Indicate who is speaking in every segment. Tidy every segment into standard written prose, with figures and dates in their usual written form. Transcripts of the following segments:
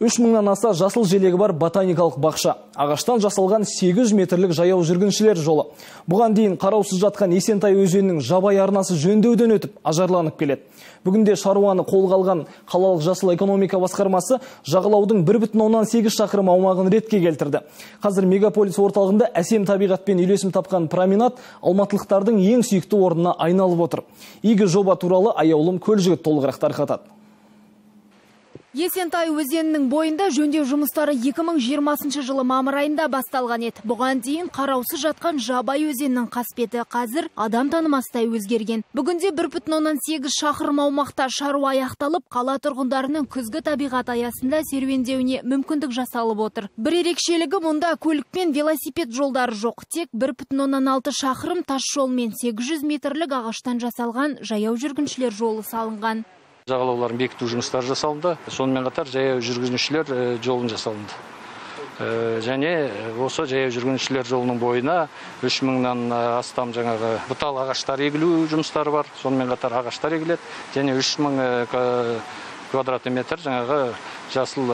Speaker 1: 3000-нан аса жасыл желегі бар ботаникалық бақша. Ағаштан жасалған 800 метрлік жаяу жүргіншілер жолы. Бұған дейін қараусыз жатқан Есентай өзенінің жабай арнасы жөндеуден өтіп, ажарланып келеді. Бүгінде шаруаны қолға алған қалалық жасыл экономика басқармасы жағалаудың 1,8 шақырым аумағын ретке келтірді. Қазір мегаполис орталығында әсем табиғатпен үйлесім тапқан променад алматылықтардың ең сүйікті орнына айналып отыр. Игі жоба туралы аяулым Көлжігіт толығырақ тарқатады.
Speaker 2: Есентай өзенінің бойында жөндеу жұмыстары 2020 жылы мамыр айында басталған еді. Бұған дейін қараусыз жатқан жабай өзенінің қасбеті қазір адам танымастай өзгерген. Бүгінде 1,8 шақырым аумақта шаруа аяқталып, қала тұрғындарының күзгі табиғат аясында серуендеуіне мүмкіндік жасалып отыр. Бір ерекшелігі, мұнда көлік пен велосипед жолдары жоқ. Тек 1,6 шақырым тас жол мен 800 метрлік ағаштан жасалған жаяу жүргіншілер жолы салынған.
Speaker 3: Жағалауларын бекіту жұмыстары жасалынды. Сонымен қатар жаяу жүргіншілер жолын жасалынды. Және осы жаяу жүргіншілер жолының бойына 3000-нан астам жаңағы бұтал ағаштар егілу жұмыстары бар. Сонымен қатар ағаштар егіледі. Және 3000 квадрат метр жаңағы жасыл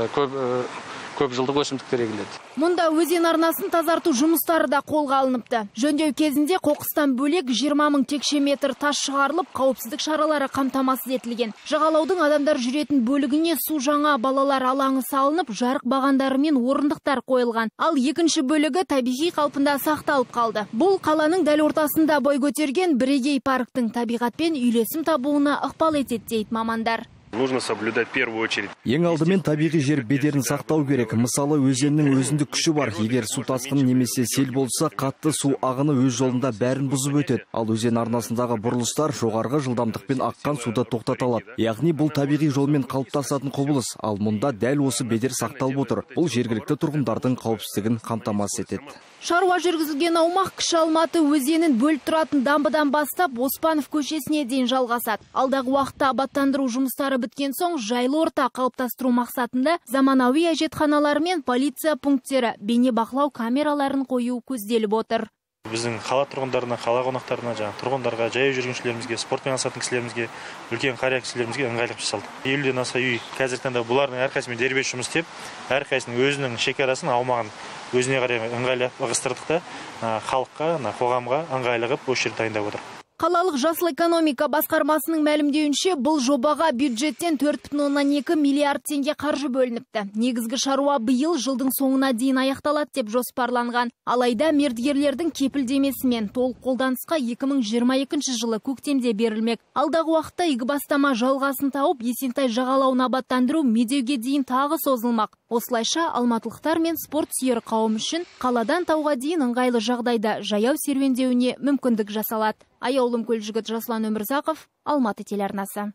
Speaker 3: көп жылдық өсімдіктер егіледі.
Speaker 2: Мұнда өзен арнасын тазарту жұмыстары да қолға алыныпты. Жөндеу кезінде қоқыстан бөлек 20 000 текше метр тас шығарылып, қауіпсіздік шаралары қамтамасыз етілген. Жағалаудың адамдар жүретін бөлігіне су жаңа балалар алаңы салынып, жарық бағандары мен орындықтар қойылған. Ал екінші бөлігі табиғи қалпында сақталып қалды. Бұл қаланың дәл ортасында бой көтерген бірегей парктың табиғатпен үйлесім табуына ықпал етеді дейді мамандар.
Speaker 4: Нужно соблюдать в первую очередь.
Speaker 5: Ең алдымен табиғи жер бедерін сақтау керек. Мысалы, өзеннің өзіндік күші бар. Егер су тасқыны немесе сел болса, қатты су ағыны өз жолында бәрін бұзып өтеді. Ал өзен арнасындағы бұрылыстар жоғарғы жылдамдықпен аққан суды тоқтата алады. Яғни бұл табиғи жолмен қалыптасатын құбылыс. Ал мұнда дәл осы бедер сақталып отыр. Бұл жергілікті тұрғындардың қауіпсіздігін қамтамасыз етеді.
Speaker 2: Шаруа жүргізілген аумақ Кіші Алматы өзенін бөліп тұратын дамбыдан бастап Оспанов көшесіне дейін жалғасады. Алдағы уақытта абаттандыру жұмыстары біткен соң жайлы орта қалыптастыру мақсатында заманауи әжетханалар мен полиция пункттері бейнебақылау камераларын қою көзделіп отыр.
Speaker 4: Біздің қала тұрғындарына, қала қонақтарына, тұрғындарға, жаяу жүргіншілерімізге, спортпен айналысатын кісілерімізге, үлкен қария кісілерімізге ыңғайлық жасалды. 50-ден аса үй қазіргі таңда бұлардың әрқайсымен дербес жұмыс істеп, әрқайсының өзінің шекарасын, аумағын өзіне қарай ыңғайлы ығыстырдық та халыққа, қоғамға ыңғайлы қылып осы жерді дайындап отыр.
Speaker 2: Қалалық жасыл экономика басқармасының мәлімдеуінше, бұл жобаға бюджеттен 4,2 миллиард теңге қаржы бөлініпті. Негізгі шаруа биыл жылдың соңына дейін аяқталады деп жоспарланған. Алайда мердігерлердің кепілдемесімен толық қолданысқа 2022 жылы көктемде берілмек. Алдағы уақытта игі бастама жалғасын тауып, Есентай жағалауын абаттандыру медеуге дейін тағы созылмақ. Осылайша алматылықтар мен спорт сүйер қауым үшін қаладан тауға дейін ыңғайлы жағдайда жаяу серуендеуіне мүмкіндік жасалады. Аяулым Көлжігіт, Жасұлан Өмірзақов, Алматы телеарнасы.